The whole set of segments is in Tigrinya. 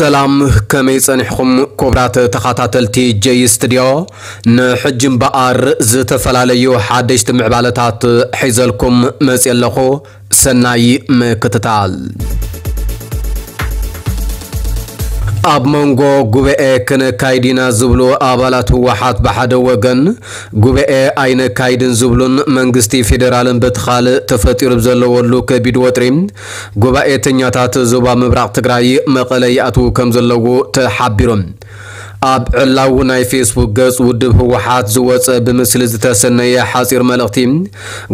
ሰላም፣ ከመይ ጸኒሕኹም ክቡራት ተኸታተልቲ ጀይ ስቱድዮ? ንሕጂ እምበኣር ዝተፈላለዩ ሓደሽቲ ምዕባለታት ሒዘልኩም መጽየ ኣለኹ። ሰናይ ምክትታል። ኣብ መንጎ ጉባኤ ክነካይድ ኢና ዝብሉ ኣባላት ህወሓት ብሓደ ወገን፣ ጉባኤ ኣይነካይድን ዝብሉን መንግስቲ ፌደራልን በቲ ካልእ ተፈጢሩ ዘለወሉ ከቢድ ወጥሪ፣ ጉባኤተኛታት ዞባ ምብራቕ ትግራይ መቐለ ይኣትዉ ከም ዘለዉ ተሓቢሩ። ኣብ ዕላዊ ናይ ፌስቡክ ገጽ ውድብ ህወሓት ዝወጸ ብምስሊ ዝተሰነየ ሓጺር መልእኽቲ፣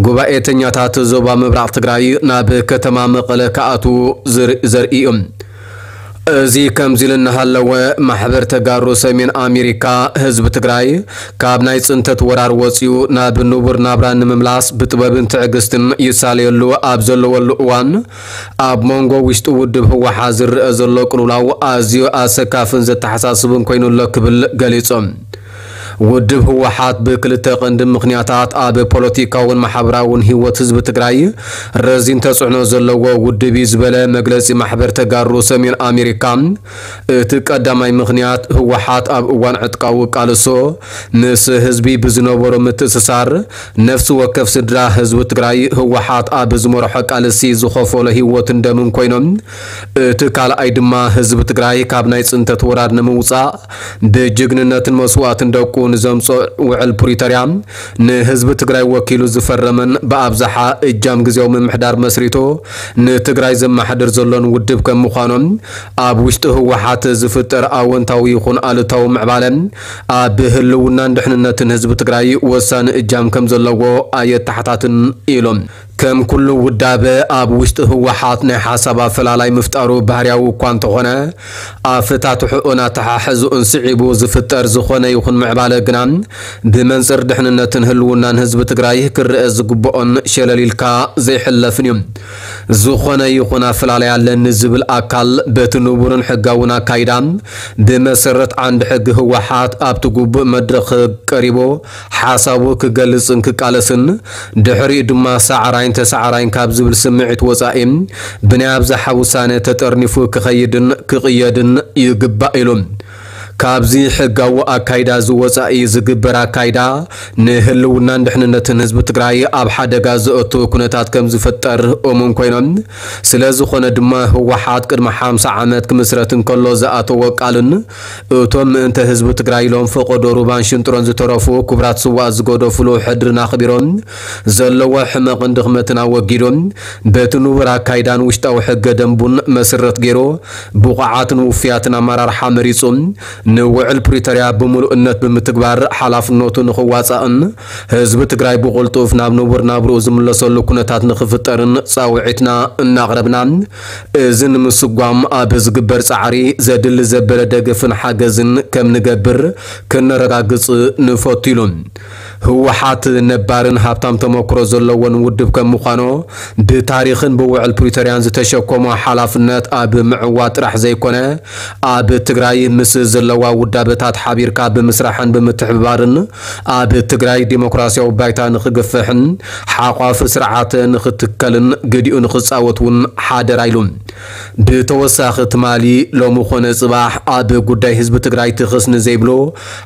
ጉባኤተኛታት ዞባ ምብራቕ ትግራይ ናብ ከተማ መቐለ ክኣትዉ ዝር-፣ ዘርኢ እዩ። እዚ ከምዚ ኢሉ እናሃለወ፣ ማሕበር ተጋሩ ሰሜን ኣሜሪካ፣ ህዝቢ ትግራይ ካብ ናይ ጽንተት ወራር ወጺኡ ናብ ንቡር ናብራ ንምምላስ ብጥበብን ትዕግስትን ይሳለየሉ ኣብ ዘለወሉ እዋን፣ ኣብ መንጎ ውሽጢ ውድብ ህወሓት ዝረኣ ዘሎ ቅልውላው ኣዝዩ ኣሰካፍን ዘተሓሳስብን ኮይኑ ኣሎ ክብል ገሊጹ። ውድብ ህወሓት ብክልተ ቀንዲ ምኽንያታት ኣብ ፖለቲካውን ማሕበራውን ህይወት ህዝቢ ትግራይ ረዚን ተጽዕኖ ዘለዎ ውድብ እዩ ዝበለ መግለጺ ማሕበር ተጋሩ ሰሜን ኣሜሪካ፣ እቲ ቀዳማይ ምኽንያት ህወሓት ኣብ እዋን ዕጥቃዊ ቃልሶ ምስ ህዝቢ ብዝነበሮ ምትእስሳር፣ ነፍሲ ወከፍ ስድራ ህዝቢ ትግራይ ህወሓት ኣብ ዝመርሖ ቃልሲ ዝኸፈሎ ህይወትን ደምን ኮይኖም፣ እቲ ካልኣይ ድማ ህዝቢ ትግራይ ካብ ናይ ጽንተት ወራር ንምውጻእ ብጅግንነትን መስዋእትን ደቁ ንዘምጾ ውዕል ፕሪቶርያ ንህዝቢ ትግራይ ወኪሉ ዝፈረመን ብኣብዝሓ እጃም ግዜያዊ ምምሕዳር መስሪቱ ንትግራይ ዘመሓድር ዘሎን ውድብ ከም ምዃኖም፣ ኣብ ውሽጢ ህወሓት ዝፍጠር ኣወንታዊ ይኹን ኣሉታዊ ምዕባለ ኣብ ህልውናን ድሕንነትን ህዝቢ ትግራይ ወሳኒ እጃም ከም ዘለዎ ኣየተሓታትን ኢሎም። ከም ኩሉ ውዳበ ኣብ ውሽጢ ህወሓት ናይ ሓሳብ ኣፈላላይ ምፍጣሩ ባህርያዊ እኳ እንተኾነ፣ ኣፈታትሕኡን ኣተሓሕዝኡን ስዒቡ ዝፍጠር ዝኾነ ይኹን ምዕባለ ግና ብመንጽር ድሕንነትን ህልውናን ህዝቢ ትግራይ ክረአ ዝግብኦን ሸለል ኢልካ ዘይሕለፍን እዩ። ዝኾነ ይኹን ኣፈላላይ ኣለኒ ዝብል ኣካል በቲ ንቡርን ሕጋውን ኣካይዳ ብመሰረት ዓንዲ ሕጊ ህወሓት ኣብቲ ግቡእ መድረኽ ቀሪቡ ሓሳቡ ክገልጽን ክቃለስን፣ ድሕሪኡ ድማ ሳዕራይን ተሳዕራይን ካብ ዝብል ስምዒት ወጻኢ ብናይ ኣብዝሓ ውሳነ ተጠርኒፉ ክኸይድን ክቕየድን ይግባእ ኢሉ። ካብዚ ሕጋዊ ኣካይዳ እዚ ወጻኢ ዝግበር ኣካይዳ ንህልውናን ድሕንነትን ህዝቢ ትግራይ ኣብ ሓደጋ ዘእቱ ኩነታት ከም ዝፍጠር እሙን ኮይኖም፣ ስለ ዝኾነ ድማ ህወሓት ቅድሚ ሓምሳ ዓመት ክምስረት እንከሎ ዝኣተዎ ቃልን እቶም ምእንተ ህዝቢ ትግራይ ኢሎም ፈቐዶ ሩባን ሽንጥሮን ዝተረፉ ክቡራት ስዋኣት ዝገደፉሉ ሕድርን ኣኽቢሮም፣ ዘለዎ ሕመቕን ድኽመትን ኣወጊዶም፣ በቲ ንቡር ኣካይዳን ውሽጣዊ ሕገ ደንቡን መሰረት ገይሩ ብቑዓትን ውፍያትን ኣመራርሓ መሪጹ ንውዕል ፕሪቶርያ ብምሉእነት ብምትግባር ሓላፍነቱ ንኽዋጻእን ህዝቢ ትግራይ ብቕልጡፍ ናብ ንቡር ናብርኡ ዝምለሰሉ ኩነታት ንኽፍጠርን ጻውዒትና እናቕረብና፣ እዚ ንምስጓም ኣብ ዝግበር ጻዕሪ ዘድሊ ዘበለ ደገፍን ሓገዝን ከም ንገብር ክነረጋግጽ ንፈቱ ኢሉ። ህወሓት ነባርን ሃብታም ተመክሮ ዘለዎን ውድብ ከም ምዃኑ፣ ብታሪኽን ብውዕል ፕሪቶርያን ዝተሸከሞ ሓላፍነት ኣብ ምዕዋት ጥራሕ ዘይኮነ፣ ኣብ ትግራይ ምስ ዘለዋ ውዳበታት ሓቢርካ ብምስራሕን ብምትሕብባርን ኣብ ትግራይ ዲሞክራሲያዊ ባይታ ንኽግፍሕን ሓቋፊ ስርዓት ንኽትከልን ግዲኡ ንኽጻወት እውን ሓደራ ኢሉ። ብተወሳኺ ትማሊ፣ ሎሚ ኮነ ጽባሕ ኣብ ጉዳይ ህዝቢ ትግራይ ትኽስ ንዘይብሉ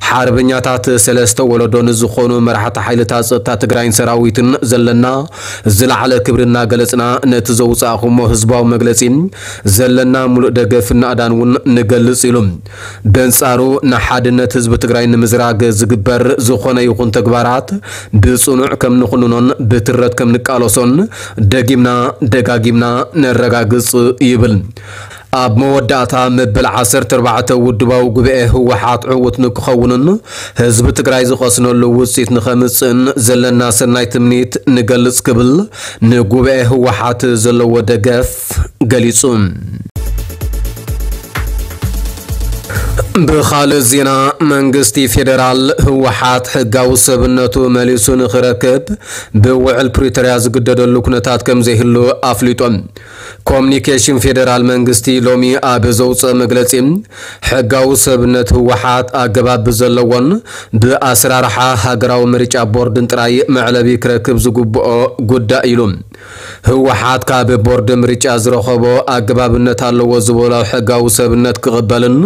ሓርበኛታት ሰለስተ ወለዶ ንዝኾኑ መራሕቲ ሓይልታት ጸጥታ ትግራይን ሰራዊትን ዘለና ዝለዓለ ክብሪ እናገለጽና፣ ነቲ ዘውጻእኹሞ ህዝባዊ መግለጺ ዘለና ሙሉእ ደገፍን ናእዳን እውን ንገልጽ ኢሉ። በንጻሩ፣ ንሓድነት ህዝቢ ትግራይ ንምዝራግ ዝግበር ዝኾነ ይኹን ተግባራት ብጽኑዕ ከም ንኹንኖን ብትረት ከም ንቃለሶን ደጊምና ደጋጊምና ነረጋግጽ ይብል። ኣብ መወዳእታ፣ መበል ዓሰርተ ኣርባዕተ ውድባዊ ጉባኤ ህወሓት ዕዉት ንክኸውንን ህዝቢ ትግራይ ዝቐስነሉ ውፅኢት ንኸምፅእን ዘለና ሰናይ ትምኒት ንገልፅ ክብል ንጉባኤ ህወሓት ዘለዎ ደገፍ ገሊፁ። ብኻልእ ዜና፣ መንግስቲ ፌዴራል ህወሓት ሕጋዊ ሰብነቱ መሊሱ ንኽረክብ ብውዕል ፕሪቶርያ ዝግደደሉ ኩነታት ከም ዘይህሉ ኣፍሊጦም። ኮሚኒኬሽን ፌዴራል መንግስቲ ሎሚ ኣብ ዘውፅኦ መግለፂ፣ ሕጋዊ ሰብነት ህወሓት ኣገባብ ብዘለዎን ብኣሰራርሓ ሃገራዊ ምርጫ ቦርድን ጥራይ መዕለቢ ክረክብ ዝግብኦ ጉዳይ ኢሉ። ህወሓት ካብ ቦርድ ምርጫ ዝረኸቦ ኣገባብነት ኣለዎ ዝበሎ ሕጋዊ ሰብነት ክቕበልን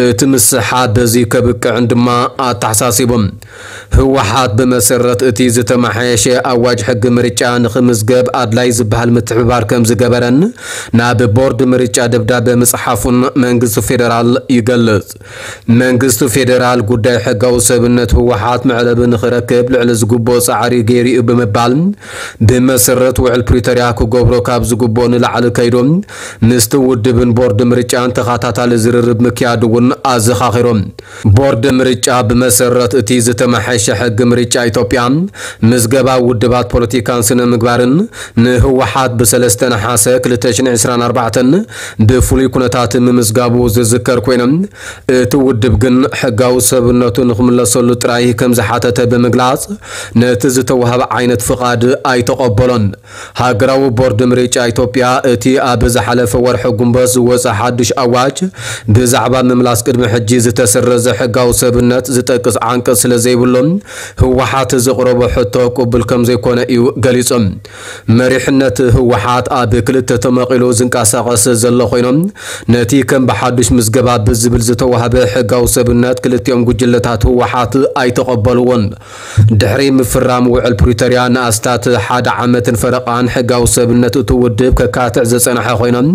እቲ ምስሓብ በዚ ከብቅዕን ድማ ኣተሓሳሲቡ። ህወሓት ብመሰረት እቲ ዝተመሓየሸ ኣዋጅ ሕጊ ምርጫ ንኽምዝገብ ኣድላይ ዝበሃል ምትሕብባር ከም ዝገበረን ናብ ቦርድ ምርጫ ደብዳበ ምፅሓፉን መንግስቲ ፌዴራል ይገልጽ። መንግስቲ ፌዴራል ጉዳይ ሕጋዊ ሰብነት ህወሓት መዕለቢ ንኽረክብ ልዕሊ ዝግብኦ ጻዕሪ ገይሩ እዩ ብምባል፣ ብመሰረት ውዕል ፕሪቶርያ ክገብሮ ካብ ዝግብኦ ንላዕሊ ከይዱ ምስቲ ውድብን ቦርድ ምርጫን ተኸታታሊ ዝርርብ ምክያዱ እውን ኣዘኻኺሮም። ቦርድ ምርጫ ብመሰረት እቲ ዝተመሓየሸ ሕጊ ምርጫ ኢትዮጵያ፣ ምዝገባ ውድባት ፖለቲካን ስነ ምግባርን ንህወሓት ብሰለስተ ነሓሰ ክልተ ሽሕን ዕስራን ኣርባዕተን ብፍሉይ ኩነታት ምምዝጋቡ ዝዝከር ኮይኑ፣ እቲ ውድብ ግን ሕጋዊ ሰብነቱ ንኽምለሰሉ ጥራይ ከም ዝሓተተ ብምግላጽ፣ ነቲ ዝተዋህበ ዓይነት ፍቓድ ኣይተቐበሎን። ሃገራዊ ቦርድ ምርጫ ኢትዮጵያ፣ እቲ ኣብ ዝሓለፈ ወርሒ ጉንበት ዝወጸ ሓድሽ ኣዋጅ ብዛዕባ ምምላስ ቅድሚ ሕጂ ዝተሰረዘ ሕጋዊ ሰብነት ዝጠቅስ ዓንቀጽ ስለ ዘይብሉ፣ ህወሓት ዘቕረቦ ሕቶ ቅቡል ከም ዘይኮነ እዩ ገሊጹ። መሪሕነት ህወሓት ኣብ ክልተ ተመቒሉ ዝንቀሳቐስ ዘሎ ኮይኖም፣ ነቲ ከም ብሓዱሽ ምዝገባ ብዝብል ዝተዋህበ ሕጋዊ ሰብነት ክልቲኦም ጉጅለታት ህወሓት ኣይተቐበልዎን። ድሕሪ ምፍራም ውዕል ፕሪቶርያ ንኣስታት ሓደ ዓመትን ፈረቓን ሕጋዊ ሰብነት እቲ ውድብ ከካትዕ ዝጸንሐ ኮይኖም፣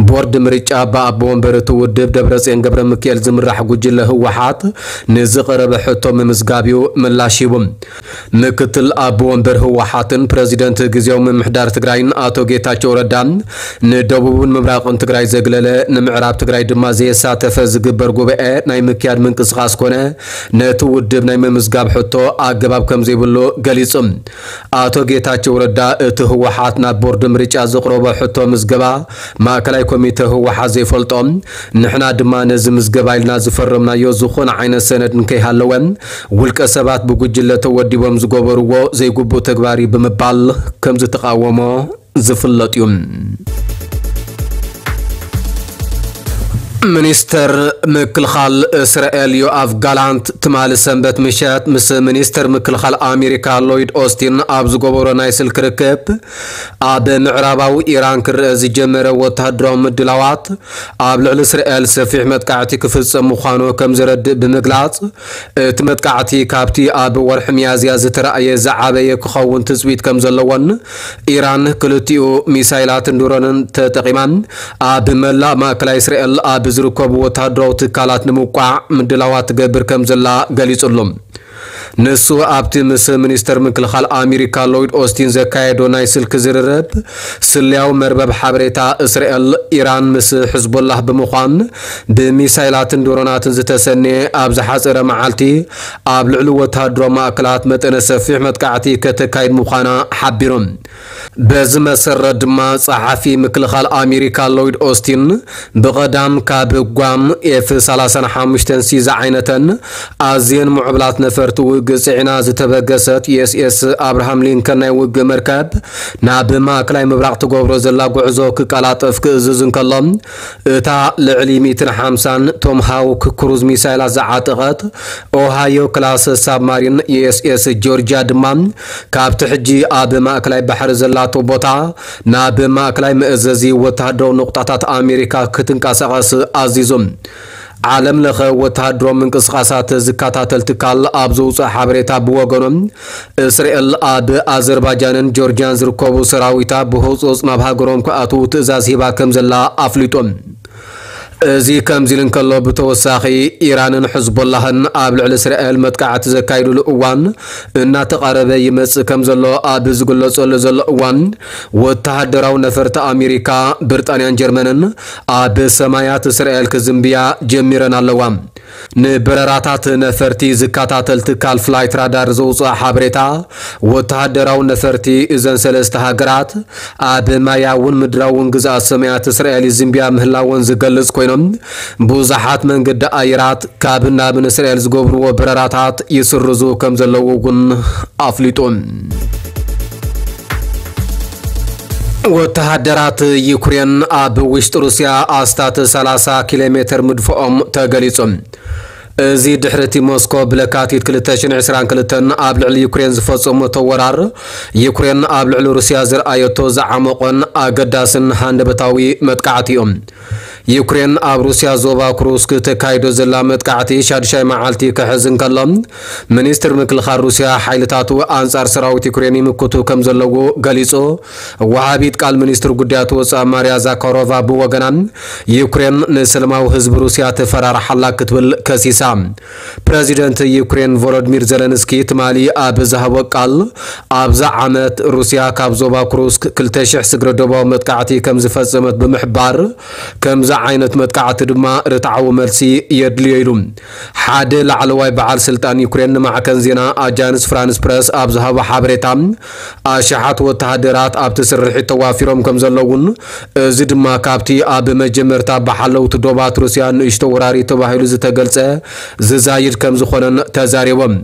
ቦርድ ምርጫ ብኣቦ ወንበር እቲ ውድብ ደብረጽዮን ገብረ ሚካኤል ዝምራሕ ጉጅለ ህወሓት ንዝቐረበ ሕቶ ምምዝጋብ እዩ ምላሽ ሂቡ። ምክትል ኣቦ ወንበር ህወሓትን ፕረዚደንት ግዜያዊ ምምሕዳር ትግራይን ኣቶ ጌታቸው ረዳ፣ ንደቡብን ምብራቕን ትግራይ ዘግለለ፣ ንምዕራብ ትግራይ ድማ ዘየሳተፈ ዝግበር ጉባኤ ናይ ምክያድ ምንቅስቓስ ኮነ ነቲ ውድብ ናይ ምምዝጋብ ሕቶ ኣገባብ ከም ዘይብሉ ገሊጹ። ኣቶ ጌታቸው ረዳ፣ እቲ ህወሓት ናብ ቦርድ ምርጫ ዘቕረቦ ሕቶ ምዝገባ ማእከላይ ኮሚተ ህወሓት ዘይፈልጦ፣ ንሕና ድማ ነዚ ምዝገባ ኢልና ዝፈረምናዮ ዝኾነ ዓይነት ሰነድ እንከይሃለወ፣ ውልቀ ሰባት ብጉጅለ ተወዲቦም ዝገበርዎ ዘይግቡእ ተግባር እዩ ብምባል ከም ዝተቓወሞ ዝፍለጥ እዩ። ሚኒስተር ምክልኻል እስራኤል ዮኣቭ ጋላንት ትማሊ ሰንበት ምሸት ምስ ሚኒስተር ምክልኻል ኣሜሪካ ሎይድ ኦስቲን ኣብ ዝገበሮ ናይ ስልኪ ርክብ፣ ኣብ ምዕራባዊ ኢራን ክረአ ዝጀመረ ወተሃደራዊ ምድላዋት ኣብ ልዕሊ እስራኤል ሰፊሕ መጥቃዕቲ ክፍጸም ምዃኑ ከም ዘረድእ ብምግላጽ፣ እቲ መጥቃዕቲ ካብቲ ኣብ ወርሒ ሚያዝያ ዝተራእየ ዝዓበየ ክኸውን ትጽቢት ከም ዘለዎን፣ ኢራን ክልቲኡ ሚሳይላትን ድሮንን ተጠቒማ ኣብ መላእ ማእከላይ እስራኤል ኣብ ዝርከቡ ወተሃደራዊ ትካላት ንምውቃዕ ምድላዋት ትገብር ከም ዘላ ገሊጹ ኣሎ። ንሱ ኣብቲ ምስ ሚኒስተር ምክልኻል ኣሜሪካ ሎይድ ኦስቲን ዘካየዶ ናይ ስልኪ ዝርርብ፣ ስለያዊ መርበብ ሓበሬታ እስራኤል፣ ኢራን ምስ ሕዝቦላህ ብምዃን ብሚሳይላትን ድሮናትን ዝተሰነየ ኣብ ዝሓጸረ መዓልቲ ኣብ ልዕሊ ወተሃደራዊ ማእከላት መጠነ ሰፊሕ መጥቃዕቲ ከተካይድ ምዃና ሓቢሮም። በዚ መሰረት ድማ ጸሓፊ ምክልኻል ኣሜሪካ ሎይድ ኦስቲን ብቐዳም ካብ ጓም ኤፍ ሰላሳን ሓሙሽተን ሲ ዝዓይነተን ኣዝየን ምዕቡላት ነፈርቲ ውግእ ጽዒና ዝተበገሰት ዩ ኤስ ኤስ ኣብርሃም ሊንከን ናይ ውግእ መርከብ ናብ ማእከላይ ምብራቕ ትገብሮ ዘላ ጉዕዞ ክቀላጠፍ ክእዝዝ እንከሎ፣ እታ ልዕሊ ሚእትን ሓምሳን ቶምሃውክ ክሩዝ ሚሳይላት ዝዓጠቐት ኦሃዮ ክላስ ሳብማሪን ዩ ኤስ ኤስ ጆርጅያ ድማ ካብቲ ሕጂ ኣብ ማእከላይ ባሕሪ ዘላቶ ቦታ ናብ ማእከላይ መእዘዚ ወተሃደራዊ ንቑጣታት ኣሜሪካ ክትንቀሳቐስ ኣዚዙ። ዓለም ለኸ ወተሃደራዊ ምንቅስቓሳት ዝከታተል ትካል ኣብ ዘውፅኦ ሓበሬታ ብወገኑ፣ እስራኤል ኣብ ኣዘርባጃንን ጆርጅያን ዝርከቡ ሰራዊታ ብህፁፅ ናብ ሃገሮም ክኣትዉ ትእዛዝ ሂባ ከም ዘላ ኣፍሊጡ። እዚ ከምዚ ኢሉ እንከሎ፣ ብተወሳኺ ኢራንን ሕዝቦላህን ኣብ ልዕሊ እስራኤል መጥቃዕቲ ዘካይዱሉ እዋን እናተቓረበ ይመጽእ ከም ዘሎ ኣብ ዝግለጸሉ ዘሎ እዋን፣ ወተሃደራዊ ነፈርቲ ኣሜሪካ፣ ብሪጣንያን ጀርመንን ኣብ ሰማያት እስራኤል ክዝንብያ ጀሚረን ኣለዋ። ንበረራታት ነፈርቲ ዝከታተል ትካል ፍላይት ራዳር ዘውፅኦ ሓበሬታ፣ ወተሃደራዊ ነፈርቲ እዘን ሰለስተ ሃገራት ኣብ ማያውን ምድራውን ግዝኣት ሰማያት እስራኤል ይዝንብያ ምህላወን ዝገልጽ ኮይኖም፣ ብዙሓት መንገዲ ኣየራት ካብ ናብ ንእስራኤል ዝገብርዎ በረራታት ይስርዙ ከም ዘለዉ እውን ኣፍሊጡ። ወተሃደራት ዩክሬን ኣብ ውሽጢ ሩስያ ኣስታት ሰላሳ ኪሎ ሜትር ምድፍኦም ተገሊጹ። እዚ ድሕሪ እቲ ሞስኮ ብለካቲት ክልተ ሽሕን ዕስራን ክልተን ኣብ ልዕሊ ዩክሬን ዝፈጸመቶ ወራር፣ ዩክሬን ኣብ ልዕሊ ሩስያ ዝረኣየቶ ዝዓመቖን ኣገዳስን ሃንደበታዊ መጥቃዕቲ እዩ። ዩክሬን ኣብ ሩስያ ዞባ ኩሩስክ ተካይዶ ዘላ መጥቃዕቲ ሻድሻይ መዓልቲ ክሕዝ እንከሎ፣ ሚኒስትር ምክልኻል ሩስያ ሓይልታቱ ኣንጻር ሰራዊት ዩክሬን ይምክቱ ከም ዘለዉ ገሊጹ። ወሃቢት ቃል ሚኒስትር ጉዳያት ወጻኢ ማርያ ዛካሮቫ ብወገና፣ ዩክሬን ንሰላማዊ ህዝቢ ሩስያ ተፈራርሓላ ክትብል ከሲሳ። ፕረዚደንት ዩክሬን ቮሎዲሚር ዘለንስኪ ትማሊ ኣብ ዝሃቦ ቃል፣ ኣብዛ ዓመት ሩስያ ካብ ዞባ ኩሩስክ ክልተ ሽሕ ስግረ ዶባዊ መጥቃዕቲ ከም ዝፈጸመት ብምሕባር፣ ከምዚ ዓይነት መጥቃዕቲ ድማ ርትዓዊ መልሲ የድልዮ ኢሉ። ሓደ ላዕለዋይ በዓል ስልጣን ዩክሬን ንማዕከን ዜና ኣጃንስ ፍራንስ ፕረስ ኣብ ዝሃቦ ሓበሬታ፣ ኣሽሓት ወተሃደራት ኣብቲ ስርሒት ተዋፊሮም ከም ዘለውን፣ እዚ ድማ ካብቲ ኣብ መጀመርታ ብሓለውቲ ዶባት ሩስያ ንእሽቶ ወራሪ ተባሂሉ ዝተገልጸ ዝዛይድ ከም ዝኾነን ተዛሪቦም።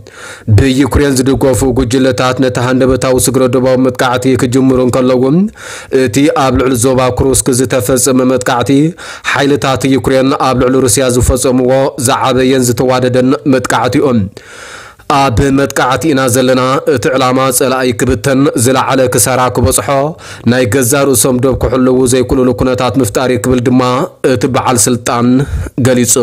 ብዩክሬን ዝድገፉ ጉጅለታት ነቲ ሃንደበታዊ ስግረ ዶባዊ መጥቃዕቲ ክጅምሩ እንከለዉ፣ እቲ ኣብ ልዕሊ ዞባ ኩሩስክ ዝተፈጸመ መጥቃዕቲ፣ ሓይልታት ዩክሬን ኣብ ልዕሊ ሩስያ ዝፈጸምዎ ዝዓበየን ዝተዋደደን መጥቃዕቲ እዩ። ኣብ መጥቃዕቲ ኢና ዘለና፣ እቲ ዕላማ ጸላኢ ክብተን፣ ዝለዓለ ክሳራ ክበጽሖ፣ ናይ ገዛእ ርእሶም ዶብ ክሕልዉ ዘይክእልሉ ኩነታት ምፍጣር እዩ ክብል ድማ እቲ በዓል ስልጣን ገሊጹ።